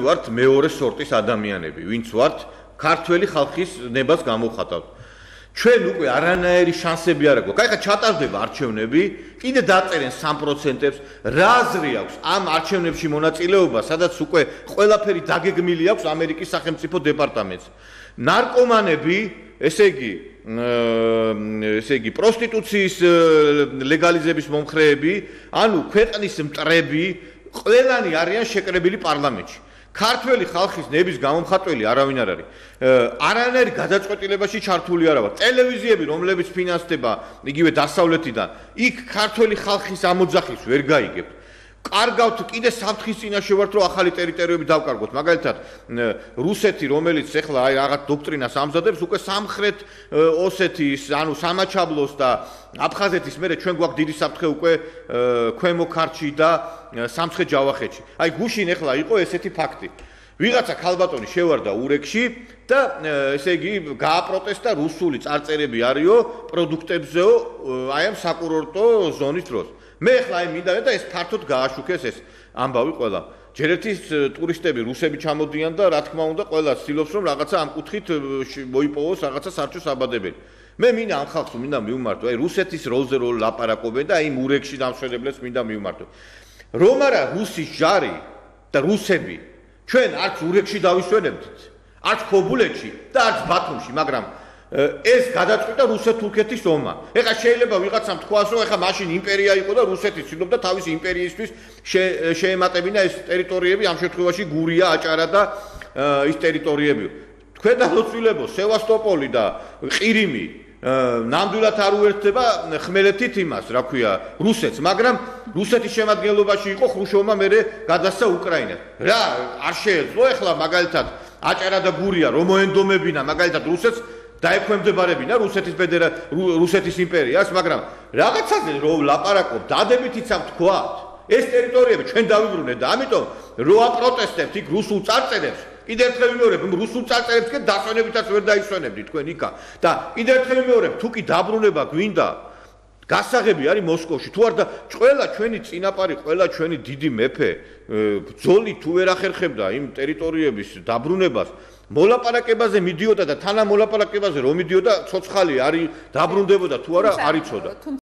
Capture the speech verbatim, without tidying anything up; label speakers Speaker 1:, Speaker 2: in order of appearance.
Speaker 1: ვართ მეორე სორტის ადამიანები, ვინც ვართ ქართველი ხალხის ნებას გამოვხატავთ. ჩვენ უკვე არანაირი შანსები არ აქვს. კაი, ხა ჩატარდება არჩევნები, კიდე დაწერენ სამ პროცენტებს, რა აზრი აქვს ამ არჩევნებში მონაწილეობა, სადაც უკვე ყველაფერი დაგეგმილი აქვს ამერიკის სახელმწიფო დეპარტამენტს. ნარკომანები, ესე იგი, ესე იგი, პროსტიტუციის ლეგალიზების მომხრეები, ანუ ქვეყნის მტრები, ყველანი არიან შეკრებილი პარლამენტში. ქართველი ხალხის ნების გამომხატველი არავინ არ არის. არანაირ გადაწყვეტილებაში ჩართული არ ვარ. ტელევიზიები, რომლებიც ფინანსდება იგივე დასავლეთიდან, იქ ქართველი ხალხის ამოძახის ვერ გაიგებთ. კარგავთ კიდე საფრთხის წინაშე ვართ, რომ ახალი ტერიტორიები დავკარგოთ. მაგალითად, რუსეთი, რომელიც ახლა აი რაღაც დოქტრინას ამზადებს, უკვე სამხრეთ ოსეთის, ანუ სამაჩაბლოს და აფხაზეთის მერე ჩვენ გვაქვს დიდი საფრთხე უკვე ქვემო ქართლში და სამცხე ჯავახეთში. აი გუშინ ახლა იყო ესეთი ფაქტი. ვიღაცა ქალბატონი შევარდა ურეკში და ესე იგი გააპროტესტა რუსული წარწერები არისო პროდუქტებზეო აი ამ საკურორტო ზონის დროს. მე ახლა აი მინდა და ეს ფართოდ გააშუქეს ეს ამბავი ყველა. ჯერ ერთი ტურისტები რუსები ჩამოდიან და რა თქმა უნდა ყველა ცდილობს რომ რაღაცა ამ კუთხით მოიპოვოს რაღაცა სარჩო საბადებელი. მე მინდა ამ ხალხს მინდა მივმართო, აი რუსეთის როლზე რო ლაპარაკობენ და აი ურეკში დამშვენებლებს მინდა მივმართო. რომ არა რუსის ჯარი და რუსები ჩვენ არც ურეკში დავისვენებდით, არც ქობულეთში და არც ბათუმში, მაგრამ ეს გადაწყვიტა რუსეთ-თურქეთის ომმა. ეხლა შეიძლება ვიღაცამ თქვას, რომ ეხლა მაშინ იმპერია იყო და რუსეთი ცდილობდა თავისი იმპერიისთვის შეემატებინა ეს ტერიტორიები, ამ შემთხვევაში გურია, აჭარა და ის ტერიტორიები. თქვენ დაწოცილებო, სევასტოპოლი და ყირიმი ნამდვილად არ უერთდება ხმელეთით იმას, რა ქვია, რუსეთს, მაგრამ რუსეთის შემადგენლობაში იყო ხრუშოვმა მერე გადასცა უკრაინას. რა არ შეეძლო ეხლა მაგალითად აჭარა და გურია რომ მოენდომებინა მაგალითად რუსეთს დაექვემდებარებინა რუსეთის ფედერა რუსეთის იმპერიას, მაგრამ რაღაცაზე რომ ლაპარაკობ, დადებით იცავ თქვათ, ეს ტერიტორიები ჩვენ დავიბრუნეთ და ამიტომ რო აპროტესტებთ იქ რუსულ წარწერებს, კიდევ ერთხელ ვიმეორებ, რუსულ წარწერებს კი დასვენებითაც ვერ დაისვენებდით თქვენ იქა და კიდევ ერთხელ ვიმეორებ, თუ კი დაბრუნება გვინდა, გასაღები არის მოსკოვში, თუ არ და ყველა ჩვენი წინაპარი, ყველა ჩვენი დიდი მეფე ბრძოლი თუ ვერ ახერხებდა იმ ტერიტორიების დაბრუნებას, მოლაპარაკებაზე მიდიოდა და თანამოლაპარაკებაზე რომ მიდიოდა, ცოცხალი არის დაბრუნდებოდა თუ არა არ იცოდა.